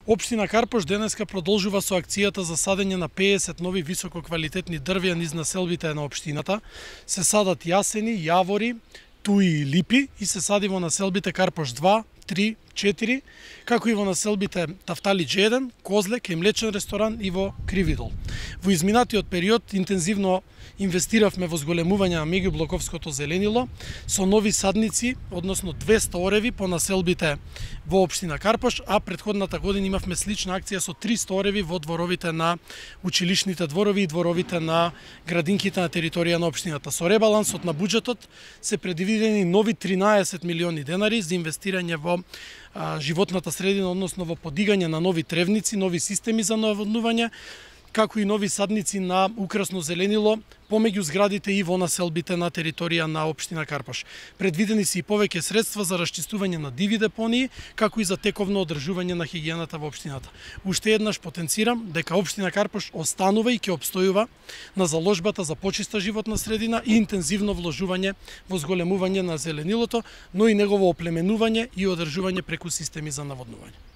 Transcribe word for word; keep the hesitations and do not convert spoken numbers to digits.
Општина Карпош денеска продолжува со акцијата за садење на педесет нови висококвалитетни дрвја низ населбите на општината. Се садат јасени, јавори, туи и липи и се сади во населбите Карпош два, три, четири, како и во населбите Тафталидж еден, Козлек и млечен ресторан и во Кривидол. Во изминатиот период интензивно инвестиравме во зголемување на меѓублоковското зеленило со нови садници, односно двесте ореви по населбите во општина Карпош, а претходната година имавме слична акција со триста ореви во дворовите на училишните дворови и дворовите на градинките на територија на општината. Со ребалансот на буџетот се предвидени нови тринаесет милиони денари за инвестирање во а, животната средина, односно во подигање на нови тревници, нови системи за наводнување, како и нови садници на украсно зеленило помеѓу зградите и во населбите на територија на општина Карпош. Предвидени се и повеќе средства за расчистување на диви депонии, како и за тековно одржување на хигиената во општината. Уште еднаш потенцирам дека општина Карпош останува и ќе обстојува на заложбата за почиста животна средина и интензивно вложување во зголемување на зеленилото, но и негово оплеменување и одржување преку системи за наводнување.